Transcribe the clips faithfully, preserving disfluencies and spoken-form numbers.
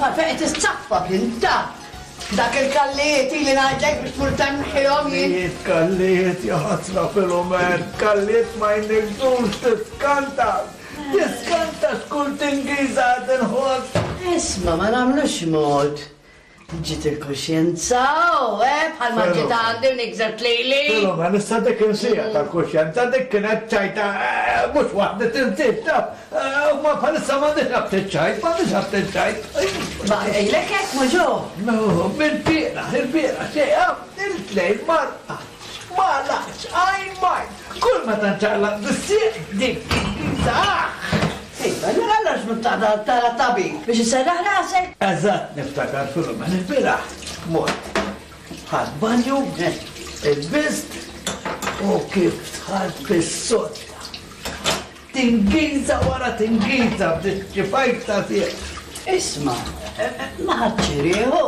taf għalfejn qed issaffa b'inta. Dak il-kallijiet ili ngħidlek biex tmur tneħħihom jien. Kallijiet, kallijiet, ja ħasra Filumen, kallijiet ma jnigżux, tiskanta. Tiskanta x'kull tingiża qed inħoss. Isma' ma nagħmlux mod. Ġiet il-kuxjenza, u eh, bħal ma ġiet għandi u nigżert lili. Filumen, issa dik insija tal-kuxjenza, dik kienet ċajta, eh, mhux waħda tinsiex, taf. Eh, Ma bħalissa m'għandix aptit ċajt, m'għandix aptit ċajt. Ma ejlek hekk mhux hu. No, mill-bieraħ, il-bieraħ, xejn, il-tlejl marqa. Ma laqx, għajn majn. Kull meta nċaqlaq bis-sieq dik tingiża. Iva, allura għalax mhux tara tabib biex iserraħ rasek? Eżatt niftakar Filumen, il-bieraħ mort. Ħadt banju, ilbist u kif dħalt fis-sodda. Tingiża wara tingiża bdiet ċifajt ta' sieq. Isma', eh, eh, ma ħadx rieħu.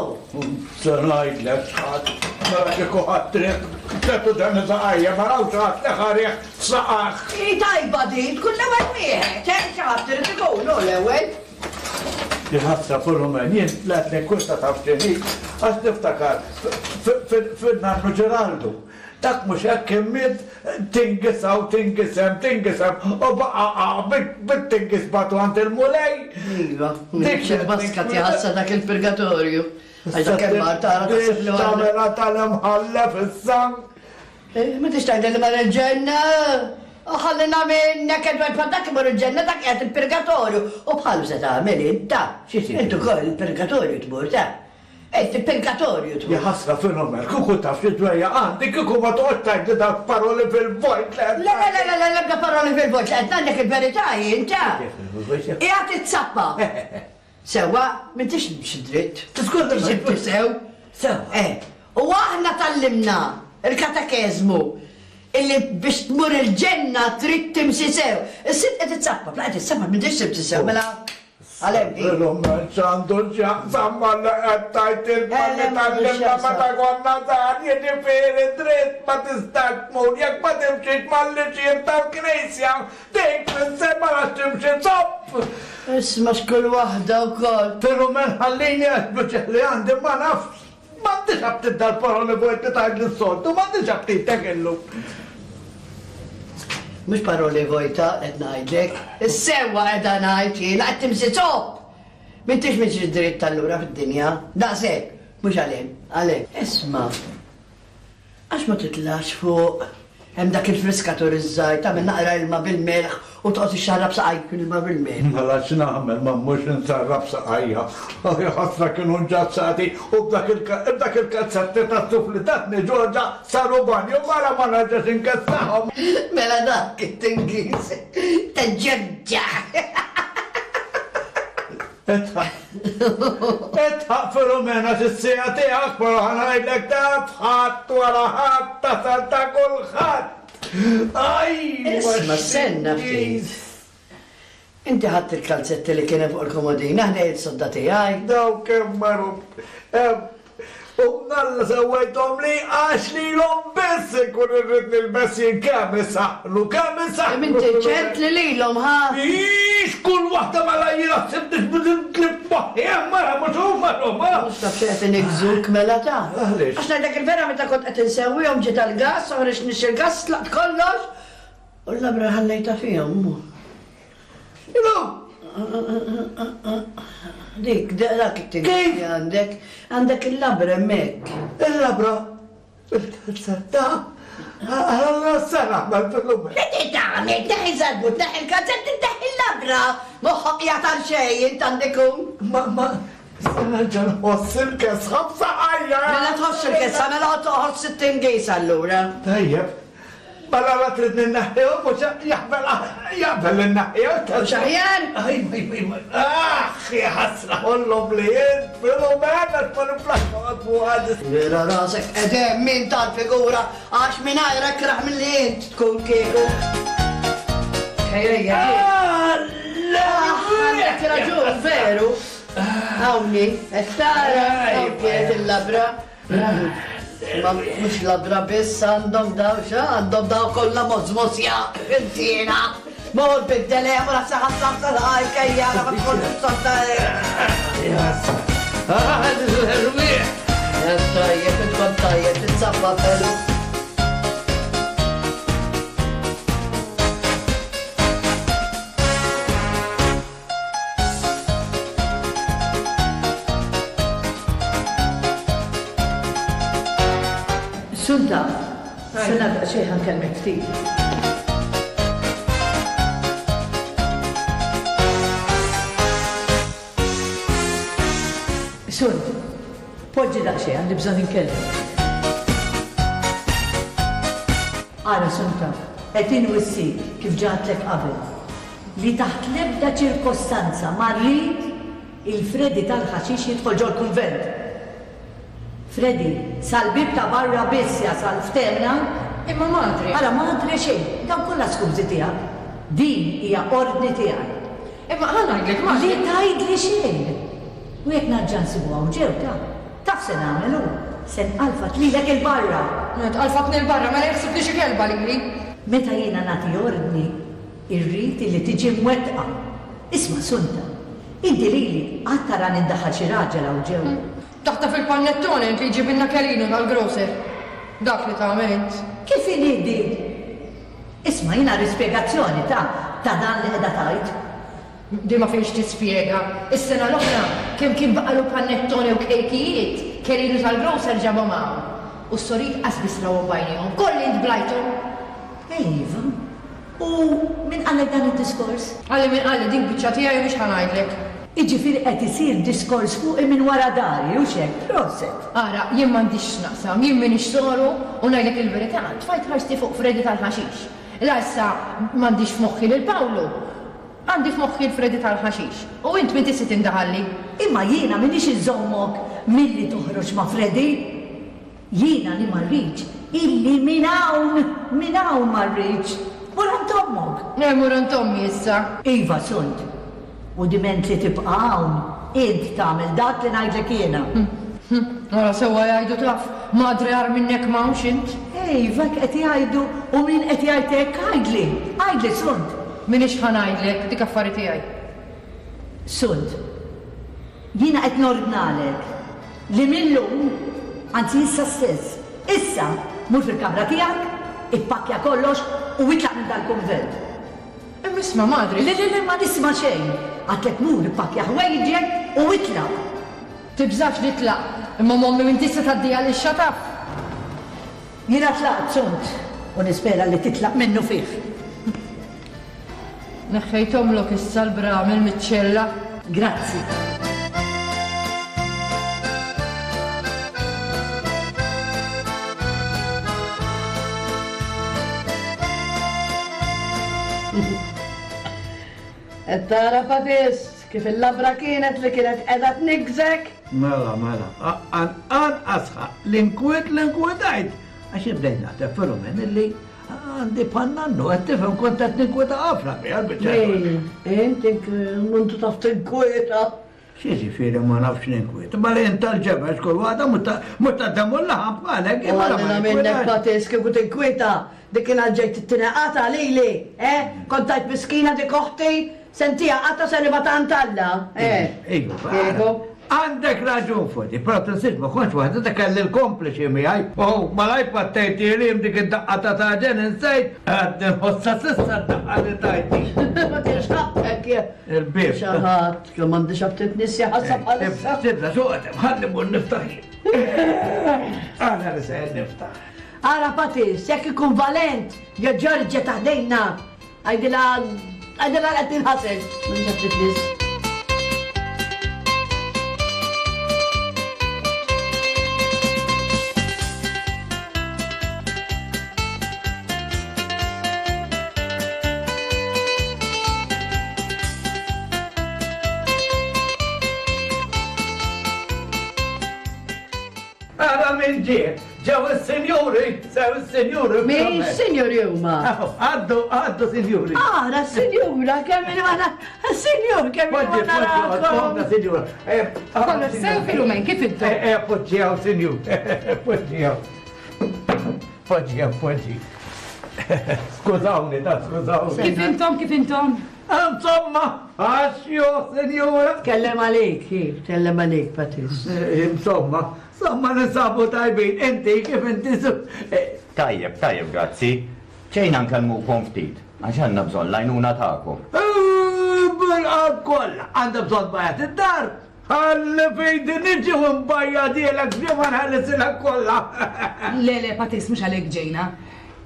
Se ngħidlek x'ħadd, mela kieku ħadd riħ, ċertu dan saqajja, ma rawx ħadd li ħa riħ f'saqajh. I tajba din, tkun l-ewwel wieħed, eh, xi ħadd irid ikun hu l-ewwel. Ħasra Filumen, jien tlaqtlek kull taf x'inhi, għax niftakar fin-nannu Ġeraldu. Dak mhux hekk kien miet tingiż hawn, tingiż hemm, tingiż hemm, u baqa' bit-tingiż bagħtu għand il-Mulej. Iva, Dik dik baska tiħassa dak il-purgatorju. Għax dak hemm mar tara taħseb li għandek. Tagħmilha tal-imħallef issa. Eh, Ma tix tgħidli li mar il-ġenna? U ħallina minnek Edward bħal dak imur il-ġenna dak qiegħed il-purgatorju. U bħalu se tagħmel inta. Xi trid? Intu ukoll il-purgatorju tmur ta' Int il-purgatorju tmur. Ja ħasra Filumen, kieku taf xi dwejjaq għandi, kieku ma toqgħodx tgħidli dak paroli fil-vojt. Le, le, le, le, le, lebda paroli fil-vojt, li qed ngħidlek il-verità jien ta' Qiegħed itzappa. Sewwa, m'intix b'xi dritt. Tiskuża, Ġibti sew. Sewwa. Eh, u aħna tgħallimna il-katekeżmu illi biex tmur il-ġenna trid timxi sew. Is-sitt qed itzappa, bla qed itzappa m'intix timxi sew, mela għalhekk di. Filumen x'għandu x'jaqsam ma li qed tgħid il-malli Eh, le, m'għandu tgħallimna x'jaqsam. meta konna żgħar, jiġifieri dritt ma tistax tmur jekk ma timxix mal-liġijiet tal-Knisja. Dik tfisser ma nafx timxi zopp. Isma' x'kull waħda wkoll. Filumen ħallini għax li għandi ma nafx. M'għandix aptit dal-paroli vojt li tgħid lis-soltu, m'għandix aptit tekillu. Mhux paroli vojta qed ngħidlek. Is-sewwa qiegħda ngħid jiena qed timxi zopp. M'intix mixi dritt allura fid-dinja. Daqshekk, mhux għalhem, għalhem. Isma' għax ma titlax fuq hemm dak il-friskatur iż-żgħir tagħmel naqra ilma bil-melħ u toqgħod ixxarrab saqajk ilma bil-melħ. Mela x'nagħmel ma mhux nsarrab saqajja. Aj ħasra kienu nġazzati u b'dak il- il-kalzetti tas-suf li tatni Ġorġa saru banju mara ma nerġax inkessaħhom. Mela dak it-tingiż ta' Ġorġa. Idħaq. Idħaq Filomena x'is-sija tiegħek, però ħa ngħidlek taf ħadd wara ħadd tasal ta' kulħadd. Aj! Isma' stenna ftit. Inti ħadt il-kalzetti li kien hemm fuq il-komodina ħdejn is-sodda tiegħi. Daw kemm marru. U mnalla sewwejthom li għax lilhom biss ikun irrid nilbes jien kemm isaħħnu, kemm isaħħnu. Inti ċert li lilhom ħa? Ix, kull waħda mela jiena ħsibtix bidil moħħi, mara mhux huma huma. Mhux taf xi qed inigżuk mela ta' Għaliex? Għax ngħidlek il-vera meta kont qed insewwihom ġiet għall-gas, oħroġ nix il-gas, tlaqt kollox. U l-labra ħallejta fihom. Ilu! Dik, dak it-tingiż Kif? li għandek, għandek il-labra hemmhekk. Il-labra, il-kalzetta, għalla s-sena għamel fil-lume. Li tagħmel, tneħħi żarbut, tneħħi il-kalzetti, tneħħi il-labra. Moħħok qiegħed għal xejn int għandek ikun. Ma, ma, se nerġa' nħoss il-kesħa b'saqajja. Mela tħoss il-kesħa, mela tħoss it-tingiż allura. Tajjeb, mela la tridni nneħħihom mhux jaqbel jaqbel li nneħħihom. Mhux aħjar? Aj, aj, aj, aħ, ja ħasra ħollhom li int Filomena għax ma niflaħx noqgħod fuq għad. Vera rasek edem min tal-figura għax mingħajr akraħ milli int tkun kieku. Ejja, għandek raġun, veru. Hawnni, qed tara, hawn kienet il-labra. Ma mhux labra biss għandhom daw xa, għandhom daw kollha mozmosja, intina. Mor biddel hemm ra saħħa saħħa ejja, ma tkunx sodda. Yes. L-erwieħ! Tajjeb, tkun tajjeb, tinsabba felu. Sunta, sena daqsxejn ħa nkellmek ftit. Sunt, poġġi daqsxejn, għandi bżonn inkellmek. Ara, Sunta, qed inwissik kif ġatlek qabel li taħt l-ebda ċirkostanza ma rrid il-Freddy tal-ħaxix jidħol ġol-kunvent. Freddy, sal-bib ta' barra biss jasal ftemna. Imma madre. Ara, madre xejn, dawn kollha skużi tiegħek. Din hija ordni tiegħi. Imma ħa ngħidlek, madre. Li tgħidli xejn. U jekk narġa' nsibu hawn ġew ta' taf se nagħmel hu, se nqalfat lilek il-barra. Tqalfatni l-barra, mela jaħseb li xi kelba lili. Meta jiena nagħti ordni, irrid li tiġi mwettqa. Isma' Sunta, inti lili qatt tara nindaħal xi raġel hawn ġew. Taħta fil-panettone int li jġibilna Kelinu tal-grocer. Dak li tagħmel int. Kif inhi din? Isma' jiena rispjegazzjoni ta' ta' dan li qiegħda tgħid. Di ma fiex tispjega. Is-sena l-oħra kemm kien baqalu panettone u kejkijiet, Kelinu tal-grocer ġabhom hawn. U s-sorit qas biss rawhom b'għajnejhom. Kolli int blajthom. Iva. U min qallek dan id-diskors? Qalli min qalli dik biċċa tiegħi mhux ħa ngħidlek. Jiġifieri qed isir diskors fuqi minn wara dari u x'hekk, proset. Ara, jien m'għandix x'naqsam, jien m'iniex soru u ngħidlek il-verità, tfajt ħarsti fuq Freddy tal-ħaxix. La issa m'għandix f'moħħi lil Pawlu. Għandi f'moħħi l-Freddy tal-ħaxix. U int min tista' tindaħalli? Imma jiena m'iniex inżommok milli toħroġ ma' Freddy. Jiena li ma rridx illi minn hawn, minn hawn ma rridx. Mur għand ommok. Eh, mur għand ommi issa. Iva, Sunt. U diment li tibqa' hawn, int tagħmel dak li ngħidlek jiena. Ara sewwa jgħidu taf, madre għar minnek m'hawnx int. Iva, qed jgħidu u min qed jgħid hekk għidli, għidli Sunt. Minix ħa ngħidlek, dik affari tiegħi. Sunt, jiena qed nordnalek li millum, anzi issa stess, issa mur fil-kamra tiegħek, ippakkja kollox u itlaq minn dal-kunvent. Imma isma' madre. Le, le, le, ma nisma' xejn. Għadlek mur ippakkja ħwejġek u itlaq. Tibżax nitlaq, imma mommi minn tista' tgħaddiha lix xataf. Jiena tlaqt, Sunt, u nispera li titlaq minnu fih. Neħħejthomlok issa l-bramel miċ-ċella. Grazzi. Qed tara Patis kif il-labra kienet li kienet qiegħda tniggżek? Mela, mela, anqas l-inkwiet l-inkwetajt. Għax ibdejt naħseb Filumen illi għandi bħan-nannu, qed tifhem kont qed ninkwieta ħafna biha l-biċċa. Inti muntu taf tinkwieta. X'jiġifieri ma nafx ninkwieta, ma li int tal-ġebel kull waħda mhux tad-demm u l-laħam bħalek. U għallina minnek Patis kieku tinkwieta, dik kien ġejt tittinaqata lili, eh? Kont tajt miskina dik oħti, sentija qatta se nibgħatha għand Alla, eh? Iva, għandek raġun Fodi, però tinsiex ma kontx waħda dak kelli l-kompliċi miegħi. Oh, malaj pattejti li dik id-daqqa ta' taġen insejt, għad nħossa s'issa d-daqqa li tajti. Ma kienx ħaqqek. Il-bib. Xi ħadd, kemm m'għandix aptit nisja ħassa bħalissa. Tibda suqet, ħalli mmur niftaħ. Aħna li se niftaħ. Ara Patis, jekk ikun valent, ja Ġorġa taħdejna. Għajdilha, għajdilha qed tinħasel. M'għandix aptit nis. Ara min ġie, ġew is-sinjuri, sew is-sinjuri. Min sinjuri huma? Għaddu, għaddu sinjuri. Ara sinjura, kemm il ma sinjur, kemm il ma narakom. Sinjura. Kollox sew Filumen, kif intom? Eh, poġġijaw, sinjur, poġġijaw. Poġġijaw, poġġi. Skużawni, ta' skużawni. Kif intom, kif intom? Insomma, għaxjo, senjura. Tkellem għalik, kif, tkellem għalik, Patis. Insomma, insomma ninsabu tajbin. Inti, kif inti? Tajjeb, tajjeb, grazzi. Ġejna nkellmukom ftit, għax għandna bżonn l-għajnuna tagħkom. Bil-qalb kollha, għandha bżonn bajat id-dar. Ħalli fejdi niġi u nbajjadielek ġimgħa nħallisilek kollha. Le, le, Patis, mhux għalhekk ġejna.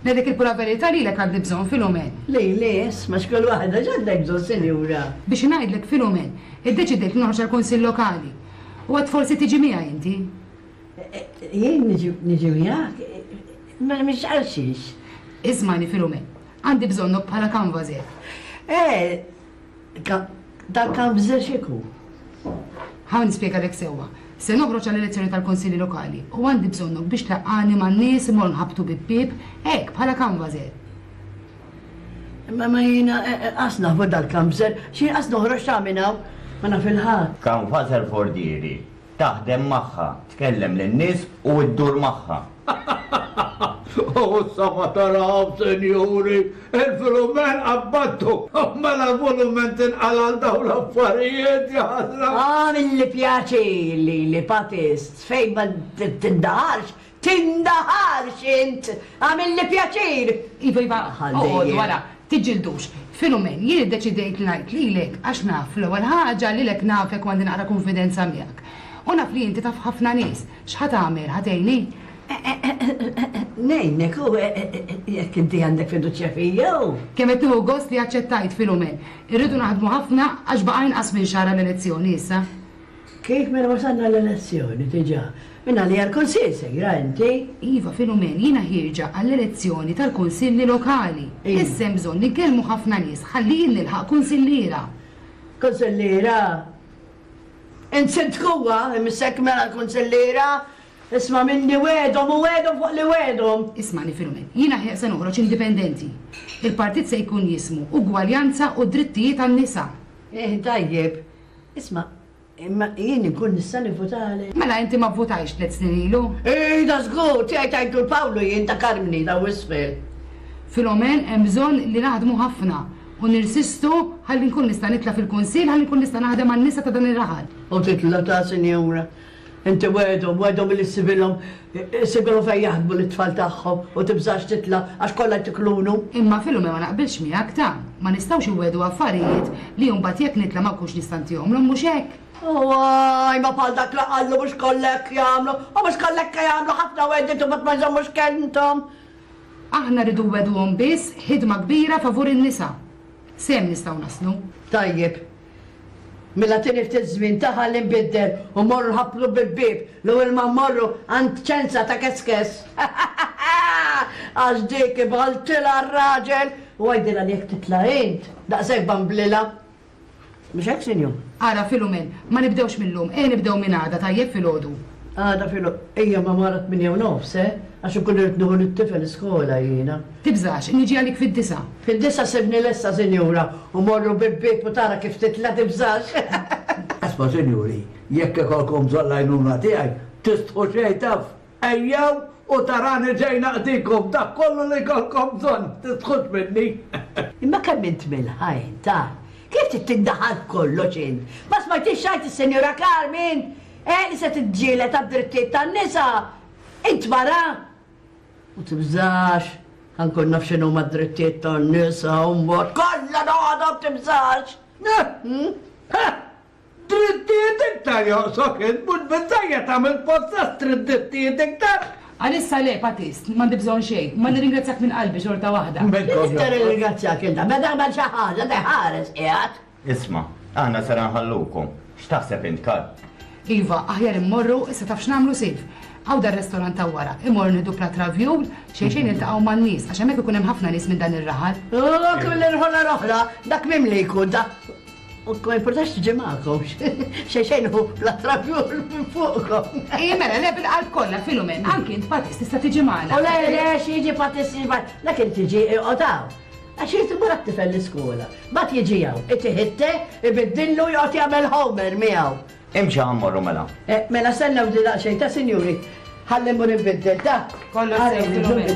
Ngħidlek il-pura verità lilek għandi bżonn, Filumen. Le, le, isma' x'kull waħda x'għandek bżonn, sinjura? Biex ngħidlek, Filumen, iddeċidejt li noħroġ għall-Kunsill Lokali. U għad forsi tiġi miegħi inti. Jien niġi miegħek? Ma mhix għal xiex. Ismani, Filumen, għandi bżonnok bħala canvasser. Eh, dan canvasser x'iku? Ħa nispjegalek sewwa. Se noħroġ għall-elezzjoni tal-Kunsilli Lokali u għandi bżonnok biex tlaqqani man-nies imorru nħabbtu bib-bieb, hekk bħala canvasser. Imma ma jiena qas nafu dal-canvasser, xi qas noħroġ ta' minn hawn, ma naf il-ħadd. Canvasser fordieri, taħdem magħha, tkellem lin-nies u ddur magħha. U sama taraw, senjuri, il-Filumen qabbattu. Mela volumen tinqala għal dawn l-affarijiet, jaħasra. Ah, mill-li pjaċir li li Patist, fejn ma tindaħarx, tindaħarx int, għamilli pjaċir. Iva, iva, oqgħod wara, tiġġildux. Filumen, jien iddeċidejt li ngħid lilek għax naf l-ewwel ħaġa lilek nafek u għandi naqra konfidenza miegħek. U naf li inti taf ħafna nies. X'ħa tagħmel, ħa tgħinni? Nejnek, u jekk inti għandek fiduċja fija u. Kemm qed nieħu gost li aċċettajt, Filumen. Irridu naħdmu ħafna għax baqa' inqas minn xahar l-elezzjoni issa. Kif minn wasalna l-elezzjoni diġà? Minn għalija l-Kunsill sejra inti? Iva, Filumen, jiena ħierġa għall-elezzjoni tal-Kunsilli Lokali. Issa hemm bżonn li nkellmu ħafna nies ħalli jien nilħaq kunsilliera. Kunsilliera? Int sindkuwa, imissek mela l-kunsilliera? Isma' minni wedhom u wedhom fuq li wedhom. Ismani, Filumen, jiena se noħroġ indipendenti. Il-partit se jkun jismu Ugwaljanza u Drittijiet tan-Nisa. Eh, tajjeb. Isma', imma jien inkun nista' nivvutali. Mela inti ma vvutajx tliet snin ilu? Ej, da żgur, tiegħi tajtu l-Pawlu jien ta' Karmni ta' Wisfel. Filumen, hemm bżonn li naħdmu ħafna u nirsistu ħalli nkun nista' nitla' fil-kunsill, ħalli nkun nista' naħdem għan-nisa ta' dan ir-raħal. U titla' ta' sinjura. Inti wedhom, wedhom li ssibilhom, ssibilhom fejn jaħdmu l-tfal tagħhom u tibżax titla' għax kollha tiklunu. Imma Filumen ma naqbilx miegħek ta' ma nistgħux iwedu affarijiet li mbagħad jekk nitla' ma nkunx nista' ntihomlhom mhux hekk. Waj, ma bħal dak la qallu mhux kollek jagħmlu, u mhux kollek jagħmlu ħafna wedit u ma jżommux kelmthom. Aħna rridu weduhom biss ħidma kbira favur in-nisa. Sem nistgħu naslu. Tajjeb. Mela tieni ftit żmien taħa li nbiddel u morru ħablu bil-bieb l-ewwel ma mmorru għand ċenza ta' keskes. Għax dik ibgħaltilha r-raġel u għajdilha li jekk titla' int, daqshekk bamblilha. Mhux hekk, sinjur? Ara, Filumen, ma nibdewx mill-lum, e nibdew minn għada tajjeb filgħodu. Għada filgħodu, ejja ma wara tmienja u nofs, eh? Għax ikun irid nieħu lit-tifel iskola jiena. Tibżax, niġi għalik fid-disa. Fid-disa sibni lesta, sinjura, u morru bil-bieb u tara kif titla' tibżax. Asma, sinjuri, jekk ikolkom bżonn l-għajnuna tiegħi, tistħu xejn taf, ejjew u tarani ġej naqdikom dak kollu li jkollkom bżonn, tistħux minni. Imma kemm int milħa int, ah? Kif trid tindaħal kollox int? Ma smajtix xajt is-Sinjura Carmen? Eh, li se tiġġieled għad-drittijiet tan-nisa. Int mara? U tibżax, ħankun naf x'inhu ma d-drittijiet tan-nisa u mbagħad kollha noqgħodhom tibżax. Drittijiet iktar joqsok int, mhux biżżejjed tagħmel possess trid drittijiet iktar. Għalissa le, Patist, m'għandi bżonn xejn, ma nirringrazzjak minn qalbi xorta waħda. Nista' nirringrazzjak inta, meta għamel xi ħaġa teħares qiegħed. Isma', aħna sera nħallukom. X'taħseb int, Karl? Iva, aħjar immorru, issa taf x'nagħmlu Silv. Għaw dar restorant ta' wara, immorru nieħdu plat ravjul, xejn xejn niltaqgħu man-nies, għax hemmhekk ikun hemm ħafna nies minn dan ir-raħal. Oh, kull irħola roħla, dak mimli jkun da. U ma importax tiġi magħkom, xejn xejn hu plat ravjul minn fuqkom. Ej, mela, le bil-qalb kollha, Filumen, anki int Patist tista' tiġi magħna. U le, le, xi jiġi Patist jiġi magħna, dak int tiġi iqgħod. Għax irid imur għat-tifel l-iskola. Mbagħad jiġi hawn, itiħitte, ibiddillu joqgħod jagħmel homer miegħu. Imxi ħammorru mela. Mela stennew di daqsxejn ta' sinjuri. Ħalli mmur inbiddel ta'. Kollox sew, Filumen.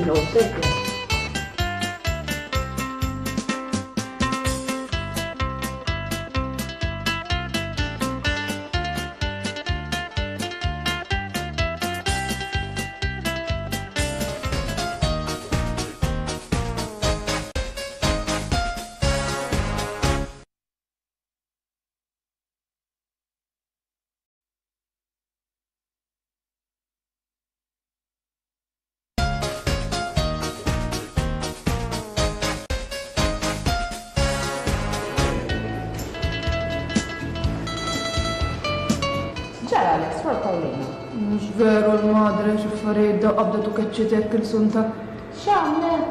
veru l-madre x'affarijiet daw qabdet u keċċitek il-Sunta. X'għamlet?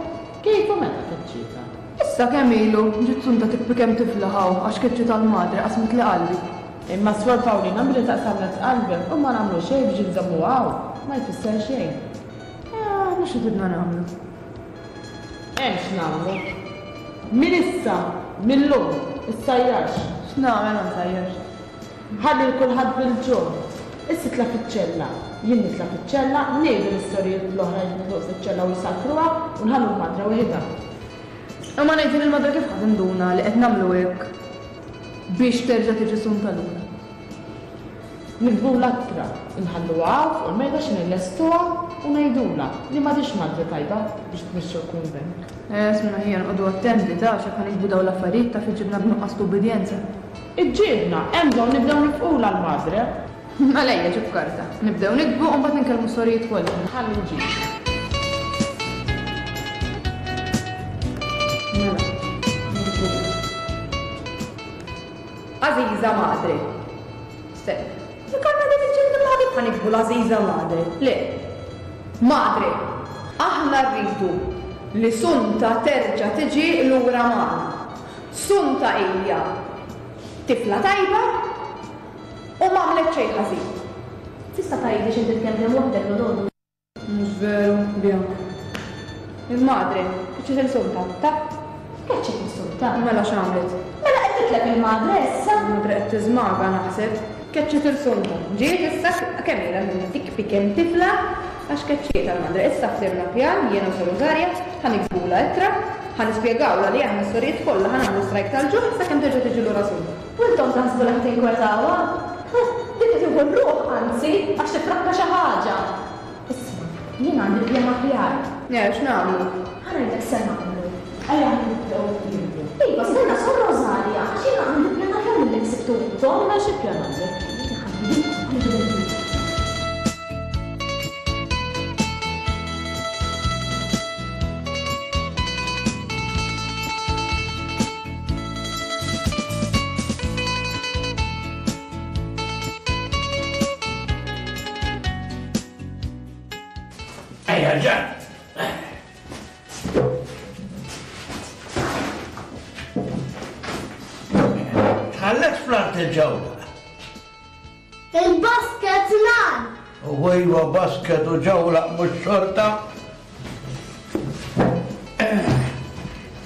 Kif u meta keċċita? Issa kemm ilu, ġiet Sunta tikbi kemm tiflaħ hawn għax keċċita l-madre qasmet li qalbi. Imma Swor Pawlina billi taqsamlet qalbek u ma nagħmlu xejn biex inżommu hawn, ma jfisser xejn. Aħna xi tridna nagħmlu? Hemm x'nagħmlu. Min issa, millum, issajjarx. X'nagħmel ma nsajjarx? Ħalli l kulħadd bil-ġuħ. Issa tla' fiċ-ċella. Jien nitla' fiċ-ċella, ngħidu l-istorijiet l-oħra jitlu fiċ-ċella u jsakruha u nħallu l-madra waħedha. Imma ngħidu lill-madra kif ħadd induna li qed nagħmlu hekk biex terġa' tiġi Sunta lura. Nikdbulha ittra, nħalluha hawn fuq il-mejda xi nillestuha u ngħidulha li m'għadix madre tajba biex tmexxi l-kunvent. Eh, isma' ħija noqogħdu attenti ta' x'hekk ħa nikdbu dawn l-affarijiet taf iġibna b'nuqqas t'ubbidjenza. Iġġibna, hemm bżonn nibdew nifqula l-madre. Mela ejja ġib karta. Nibdew nikdbu u mbagħad ninkellmu s-sorijiet kollha. Ħalli nġib. Mela, nikdbu. Għażiża madre. Stenna. Jekk għandna din il-ġilda ma ħa nikdbu l-għażiża madre. Le. Madre, aħna rridu li Sunta terġa' tiġi lura magħna. Sunta hija tifla tajba u ma għamlet xejn ħażin. Tista' tgħidli x'inti tkellem waħdek l-għodu? Mhux veru, Bianca. Il-madre, keċċiet il-Sunta, ta? Keċċiet il-Sunta? Mela x'għamlet? Mela qed titleb il-madre issa? Il-madre qed tiżmaga naħseb. Keċċiet il-Sunta. Ġiet issa kemm ilha minnha tikbi kemm tifla għax keċċiet il-madre. Issa ħsibna pjan, jiena u Sor Rosaria, ħa niktbulha ittra, ħa nispjegawlha li aħna s-sorijiet kollha ħa nagħmlu strajk tal-ġuħ sakemm terġa' tiġi lura Sunta. U intom taħsbu li ħa tinkwetawha? Dik qed tieħu r-ruħ anzi għax tifrakka xi ħaġa. Isma', jien għandi pjan aħjar. Le, x'nagħmlu? Ħa ngħidlek se nagħmlu. Ejja nibdew nibdew. Iva, stenna Sor Rosaria, għax jiena għandi pjan aħjar milli ħsibtu intom. Mela xi pjan għandek? Ejja, ġan! Tħallet fl-art il-ġewla. Il-basket nan! U iva basket u ġewla mhux xorta.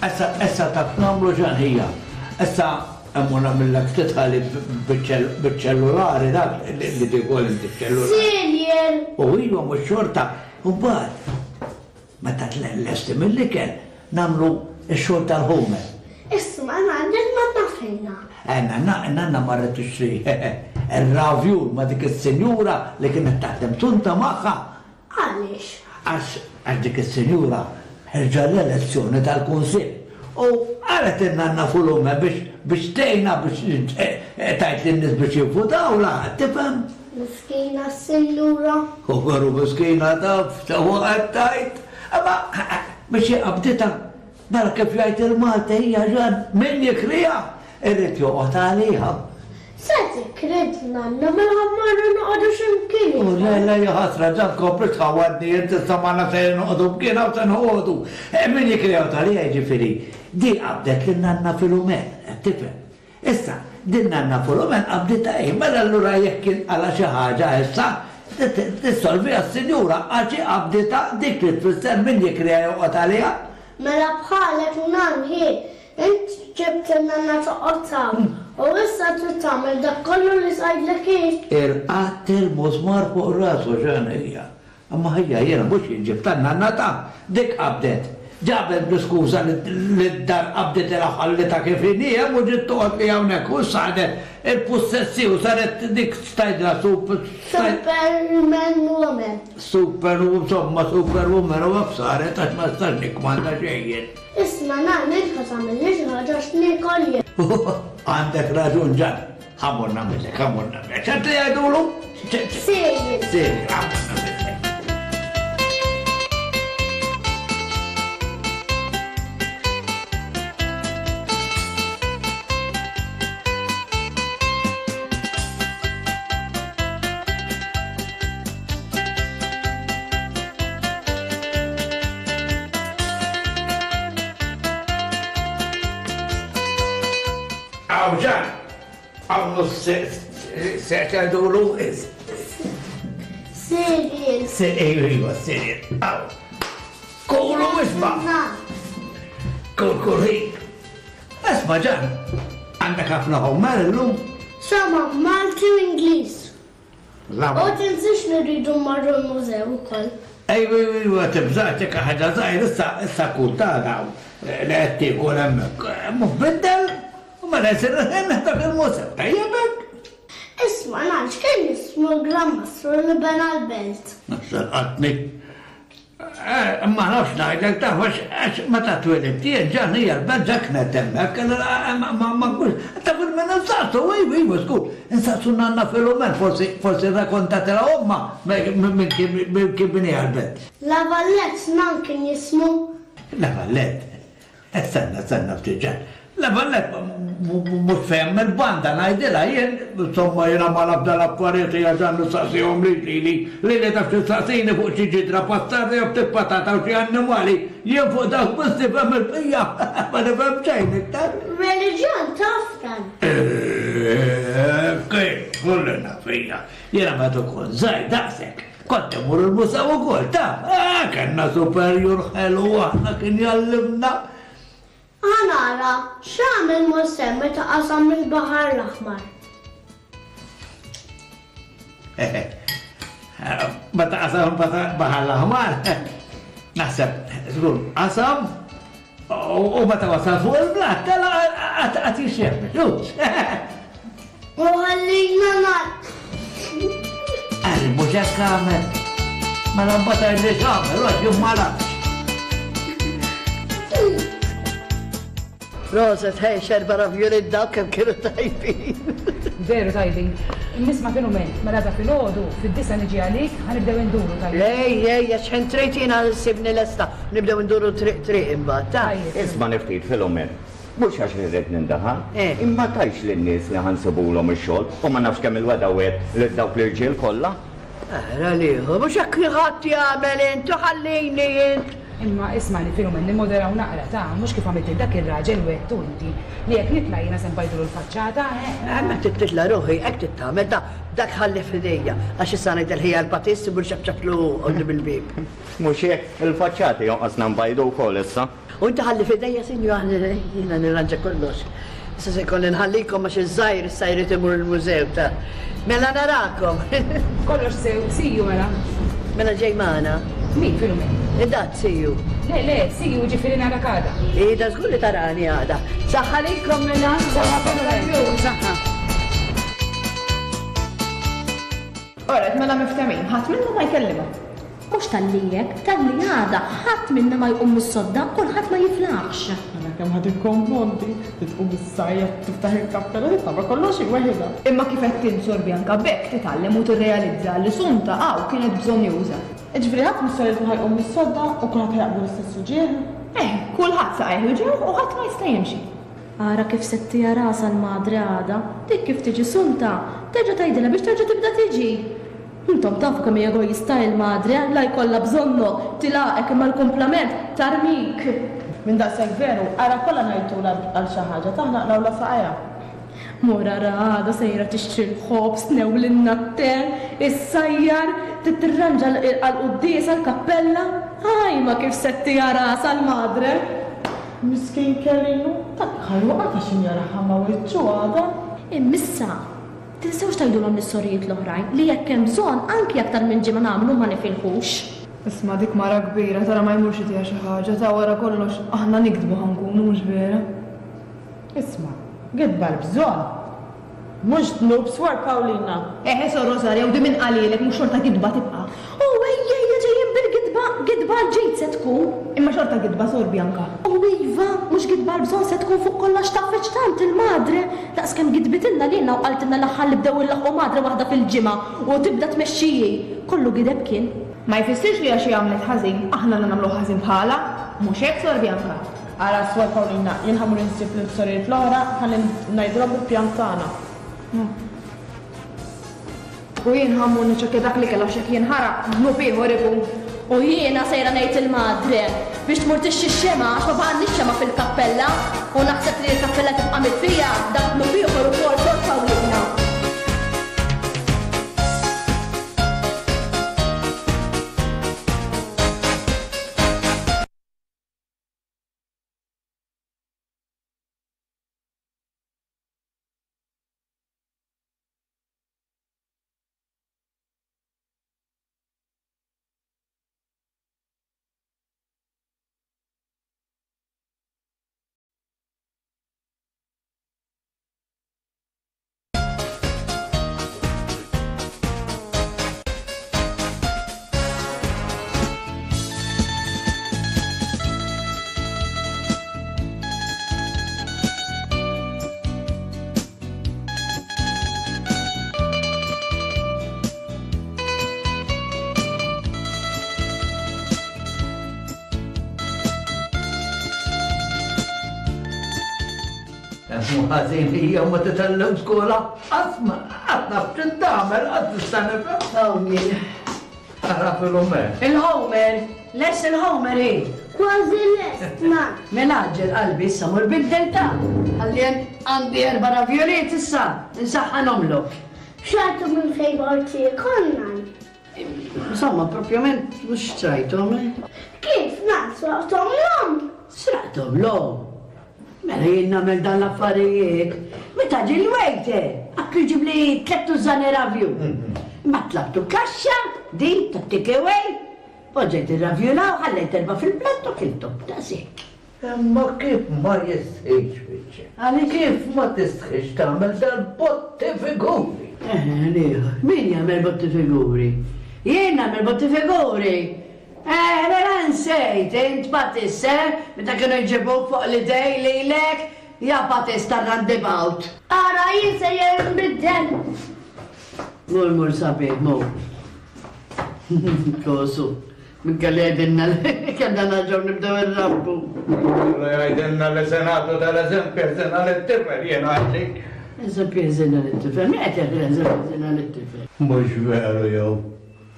Issa, issa taf nagħmlu ġan hija. Issa hemm nagħmillek ftit ħalli biċ-ċellulari dak li tikol inti ċellulari. Cereal! U iva mhux xorta. U mbagħad meta tlesti mill-ikel nagħmlu x-xogħol tal-ħumer. Isma' għandek ma tafejna. Nanna, nanna marret tixtri ir-ravjul ma' dik is-sinjura li kienet taħdem Sunta magħha. Għaliex? Għax għax dik is-sinjura ħerġa l-elezzjoni tal-kunsill. U qalet in-nanna Fulume biex biex tgħinha biex tgħid lin-nies biex jivvutawla, tifhem? Miskina s-sinjura. U veru miskina taf, sewwa qed tgħid. Imma biex qabditha, mela kif jgħid il-Malti hija ġan min jikriha irrid joqgħod għaliha. Se tikrid nanna mela mmorru noqogħdu x'imkien. U le le ja ħasra ġan kompli tħawadni inti issa magħna se noqogħdu mkien hawn se noqogħdu. Min jikriha għaliha jiġifieri. Di qabdet lin nanna Filumen, tifhem. Issa, din nanna Filumen qabditha hi, mela allura jekk inqala xi ħaġa issa tissolviha s-sinjura għax hi qabditha dik li tfisser min jikriha joqgħod għaliha. Mela bħalek nan hi, int ġibt in-nanna toqgħod hawn u issa trid tagħmel dak kollu li tgħidlek hi. Irqatt il-musmar fuq rasu ġan hija. Imma ħija jiena mhux jien ġibt tan-nanna ta' dik qabdet. Ġabet bl-iskuża li d-dar qabdet ilha ħallitha kif inhi hemm u ġiet toqgħod li hawnhekk u saret il-pussessi u saret dik x'tgħidilha super Superman woman. Super insomma superwoman u hekk saret għax ma nistax nikkmanda xejn jien. Isma' nan int ħa tagħmilli xi ħaġa għax niekol jien. Għandek raġun ġan. Ħa mmur nagħmillek, ħa mmur nagħmillek. X'qed li jgħidulu? Cereal. Cereal, ħa mmur nagħmillek. Aw Ġan, għamlu se tgħidulu Cereal. Iva, cereal. Aw. Kulu isma'. Kul kul ħin. Isma' Ġan, għandek ħafna homework illum? Sama, Malti u Ingliż. U tinsiex li rridu mmorru l-mużew ukoll. Ejwa, ejwa, ejwa, tibżax dik ħaġa żgħir issa issa kull tagħna li qed tiekol hemmhekk. Mhux biddel u mela jsir il-ħin dak il-mużew. Tajjeb hekk? Isma' naf x'kien jismu l-Gran Mastru li bena l-belt. Salqatni. Ma nafx ngħidlek taf għax meta twelidt jien ġan hija l-belt ġa kienet hemmhekk, ma nkunx. Taf il-min insaqsu, iva, iva, żgur. Insaqsu nanna Filumen, forsi forsi rrakkontatilha ommha minn kien bniha l-belt. La Vallette nan kien jismu. La Vallette? Stenna, stenna ftit ġan. La Vallette mhux fehem il-banda ngħidilha jien, insomma jiena ma naf dal-affarijiet hija ġan nistaqsihom lili, lili taf tistaqsini fuq xi ġidra passata jew ftit patata u xi annimali, jien fuq dawk biss nifhem il-bqija, ma nifhem xejn iktar. Reliġjon taf dan. Kif, kulli naf hija. Jiena meta kont żgħir daqshekk, kont immur il-mużew ukoll taf. Kellna superjur ħelu aħna kien jgħallimna. Ħa nara, x'għamel Mosè meta qasam il-Baħar l-Aħmar? Meta qasam il-Baħar l-Aħmar, naħseb, żgur, qasam u meta wasal fuq il-blat, tela' qatt jixxemmel. U ħallina nar. Għal mhux hekk għamel. Mela mbagħad għidli x'għamel, għax jien ma nafx. Proset, hej, xerba ravjoli dawk kemm kienu tajbin. Veru tajbin. Nisma' Filumen, mela da filgħodu, fid-disa niġi għalik, ħanibdew induru tajjeb. Ej, ej, għax ħin trid jiena nsibni lesta, nibdew induru triq triq imbagħad, ta. Isma' niftit Filumen, mhux għax irrid nindaħal, imma tgħidx lin-nies li ħansibulhom ix-xogħol u ma nafx kemm il-weda wegħedt lil dawk l-irġiel kollha. Ara liħu, mhux hekk ħadd jagħmel int, ħallini int. Imma ismani Filumen, nimmoderaw naqra ta' mhux kif għamilt dak ir-raġel wettu inti li jekk nitla' jiena se nbajdulu l-faċċata, eh? Ma titla' ruħi, hekk titgħamel ta' dak ħalli f'idejja, għax issa ngħid il-ħija l-patist imur xabxablu qudiem il-bieb. Mhux hekk, il-faċċati jonqosna nbajdu wkoll issa. U inti ħalli f'idejja, sinjur, jiena nirranġa kollox. Issa se jkolli nħallikom għax iż-żgħir issa jrid imur il-mużew ta'. Mela narakom. Kollox sew, see you mela. Mela ġej magħna. Min Filumen? Id-dat see you. Le, le, see you ġifieri narak għada. Ida żgur li tarani għada. Saħħa lilkom mela. Saħħa Filumen. Saħħa. Oret, mela miftemin, ħadd minna ma jkellimha. Mhux talli hekk, talli għada, ħadd minna ma jqum mis-sodda, kulħadd ma jiflaħx. Mela kemm ħad ikkonfondi, titqum is-sajja, tiftaħ il-kappella, titgħamel kollox weħidha. Imma kif qed tinsor Bianca b'hekk titgħallem u tirrealizza li Sunta hawn kienet bżonjuża. Ġifieri ħadd mis-sorijiet ma ħajqum mis-sodda u kulħadd ħajaqblu l-istess uġigħ? Eh, kulħadd saqajh uġigħ u ħadd ma jista' jimxi. Ara kif settija rasa l-madre għada, dik kif tiġi Sunta, terġa' tgħidilha biex terġa' tibda tiġi. Intom tafu kemm hija egoista il-madre, la jkollha bżonnok, tilaqek imma l-kumplament tarmik. Minn daqshekk veru, ara kollha ngħidulha għal xi ħaġa, taħna naqlawlha saqajha. Mur ara għada sejra tixtri l-ħobż, tnewlilna t-te, issajjar, titirranġa għall-quddiesa l-kappella. Ħaj ma kif settija rasa l-madre. Miskin Kerinu, dak ħajwaqgħet għax injaraha ma' wiċċu għada. Immissa, tinsewx tgħidulhom lis-sorijiet l-oħrajn li jekk hemm bżonn anki aktar minn ġimgħa nagħmlu ma nifilħux. Isma' dik mara kbira tara ma jmurx itiha xi ħaġa ta' wara kollox aħna nikdbu ħankunu mhux vera. Isma', gidba l-bżonn. Mhux dnub Swor Paulina. Eħe Sor Rosaria u di min qalilek mhux xorta gidba tibqa'. U ejja ejja ġejjin bil-gidba, gidba l-ġid se tkun. Imma xorta gidba Sor Bianca. U iva, mhux gidba l-bżonn se tkun fuq kollox tafeċ tant il-madre. Daqskemm gidbitilna lilna u qaltilna l-aħħar li bdew il-laħqu madre waħda fil-ġimgħa u tibda tmexxiji. Kollu gideb kien. Ma jfissirx li għax hi għamlet ħażin, aħna nagħmlu ħażin bħala, mhux hekk Sor Bianca. Ara Swor Paulina, jien ħamur insib l-sorijiet l-oħra ħalli ngħidulhom il-pjan tagħna. U jien ħammur niċċekkja dak li kellha x'hekk jinħaraq, dnub ieħor ikun. U jiena sejra ngħid il-madre. Biex tmur tixtri x-xemgħa għax ma baqgħalniex xemgħa fil-kappella u naħseb li l-kappella tibqa' mitfija dak dnub ieħor ukoll tort ta' wliedna. Ħażin hija ma titgħallem skola, qatt ma qatt naf x'int tagħmel, qatt tista' nifhem. Hawn jien. Ara Filumen. Il-Homer, lest il-Homer hi. Kważi lest, ma. Mela għaġġel qalbi issa mur biddel ta' ħalli għandi erba' ravjoliet issa, nsaħħanhomlok. Xtrajtu minn fejn qorti konna. Insomma, propjament mhux xtrajthom. Kif nan sraqthom l-om? Sraqthom l-om? Mela jien nagħmel dan l-affarijiet. Meta ġie l-waiter, għatlu jġib li tliet tużżani ravju. Ma tlabtu kaxxa, din ta' take away. Poġġejt ir-ravjula u ħallejt erba' fil-platt u kilthom, daqshekk. Imma kif ma jistħix biċċa? Għaliex? Kif ma tistħix tagħmel dal-botti figuri? Eh, l-ieħor. Min jagħmel botti figuri? Jien nagħmel botti figuri. Eh, mela nsejt, int Patisse, meta kienu jġibuk fuq l-idej lilek, ja Patisse tar-roundabout. Ara, jien sejjer nbiddel. Mur, mur, sabiħ, mur. Kosu, minn kelli jgħidilna li kellna nerġgħu nibdew irrabbu. Kellu jgħidilna li se nagħtu dal-eżempju ħżiena lit-tifel, jien għidlik. Eżempju ħżiena lit-tifel, min qed jagħti l-eżempju ħżiena lit-tifel? Mhux veru jew.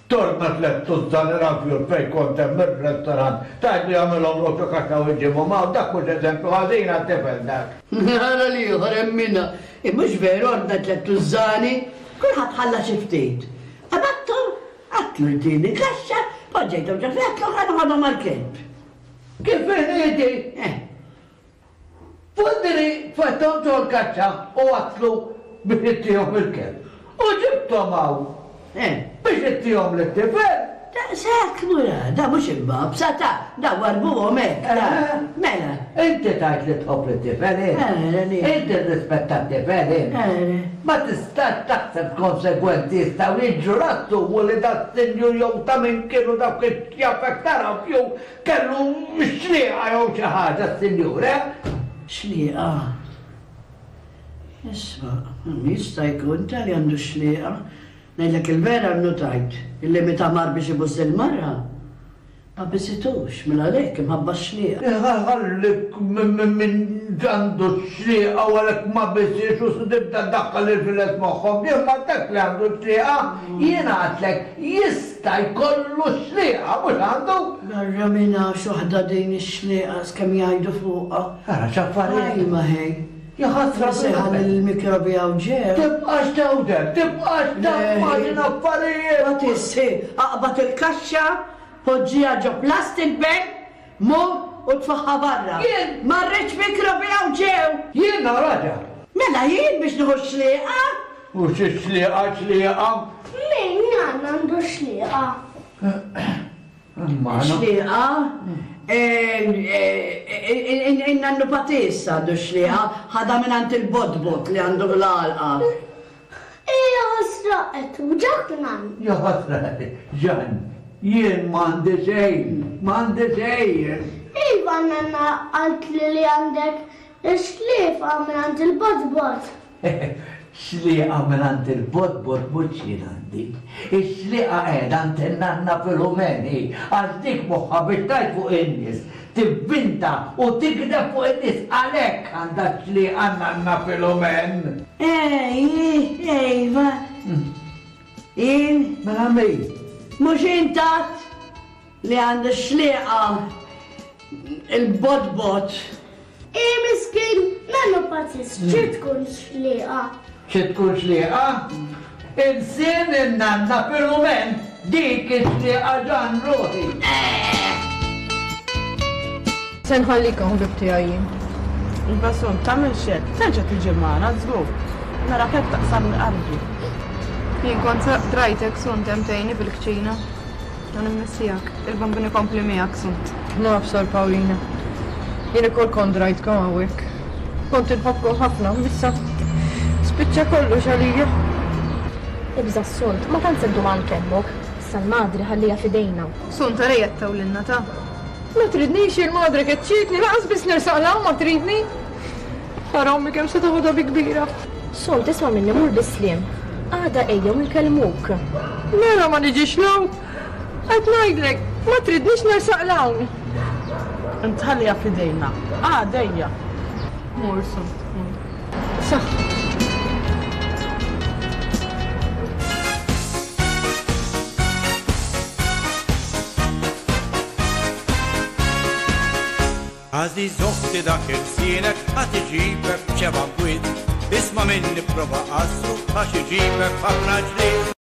Torna tliet tużżani ravjul fejn kont hemm ir-restorant, tgħidlu jagħmilhomlok xi kaxxa u jġibhom hawn, dak mhux eżempju ħażin għat-tifel dak. Ara l-ieħor hemm minnha. Mhux veru ordna tliet tużżani, kulħadd ħalla xi ftit. Qabatthom, għatlu jtini kaxxa, poġġejthom ġo fl-għatlu u ħa noħodhom għall-kelb. Kif inhi? Eh. Fondri tfetthom ġol-kaxxa u għatlu biex ittihom il-kelb. U ġibthom hawn. Eh. Biex ittihom lit-tifel. Daqshekk mura, da mhux imbabsa ta' da warbuhom hekk, da. Eh. Mela. Inti tgħid li tħobb lit-tifel int. Eh, le. Inti rrispetta t-tifel int. Eh. Ma tistax taħseb konsegwenzi jistgħu jiġru lassumu li da s-sinjur jew ta' min kienu dawk ix-xjafek ta' rafju kellu xlieqa jew xi ħaġa s-sinjur, eh? Xlieqa? Isma', jista' jkun ta' li għandu xlieqa. Ngħidlek il-vera nnutajt illi meta mar biex ibus il-mara, ma bisitux mela għalhekk imħabba x-xlieqa. Ħallik minn għandu x-xlieqa u għalhekk ma bisiex u tibda ddaħħal il-files moħħhom. Jien ma dak li għandu x-xlieqa, jien għadlek jista' jkollu x-xlieqa mhux għandu. Barra minn hawn x'waħda din ix-xlieqa skemm jgħidu fuqha. Ara x'affarijiet. Ajma ħej. Ja ħasra Seħan il-mikrobi għaw ġew. Tibqax tewder, tibqax taqma' din affarijiet. Ma tissi, aqbad il-kaxxa, poġġiha ġo plastic bag, mur u tfaħħa barra. Jien? Ma rridx mikrobi għaw ġew. Jien raġa. Mela jien biex nieħu xlieqa? U xi xlieqa, xlieqa? Min għan għandu xlieqa? Xlieqa? In-nannu Patissa għandu xlieqa, ħadha minn għand il-botbot li għandu l-għalqa. Ija ħasra qed ġak nan. Ja ħasra, Ġan, jien m'għandi xejn, m'għandi xejn. Iva nanna qalt li li għandek ix-xlieqa minn għand il-botbot. Xlieqa minn għand il-botbot mhux jien għandi. Ix-xlieqa qiegħda għand in-nanna Filumeni, għax dik moħħha biex tgħid fuq in-nies, tivvinta u tikdeb fuq in-nies għalhekk għandha xlieqa nanna Filumen. Ej, ejva. Jien? Mela min? Mhux intat li għandu xlieqa Il-bot-bot. I miskin, nannu Patis, xi tkun xliqa? Xi tkun xliqa? Insien in-nanna Filumen, dik ix-xliqa ġan ruħi. Se nħallikom ħbib tiegħi jien. Iva Sunt, tagħmilx hekk, terġa' tiġi magħna żgur. Narak hekk taqsamli qalbi. Jien kont drajtek Sunt hemm tgħinni fil-kċina. U nimmissijak. Il-Bambin ikompli miegħek Sunt. Naf Sor Paulina. Jien ukoll kont drajtkom hawnhekk. Kont inħobbkom ħafna, issa spiċċa kollox għalija. Ibża' Sunt, ma tant se ddum għand ommok. Issa l-madre ħallija f'idejna. Sunt ara tawlilna ta'. Ma tridnix il-madre keċċietni, lanqas biss nersaq 'l hawn ma tridni. Ara ommi kemm se toħodha bi kbira. Sunt, isma' minni mur bis-sliem. Għada ejja u nkellmuk. Mela ma niġix 'l hawn. Qed ngħidlek, ma tridnix nersaq 'l hawn. Int ħallija f'idejna. Għada ejja. Mur Sunt, mur. Saħħa. Għażiż oħti dak ilsienek għad iġibek f'xeba' bwiet. Isma' minni prova qassu għax iġibek f'ħafna ġlied.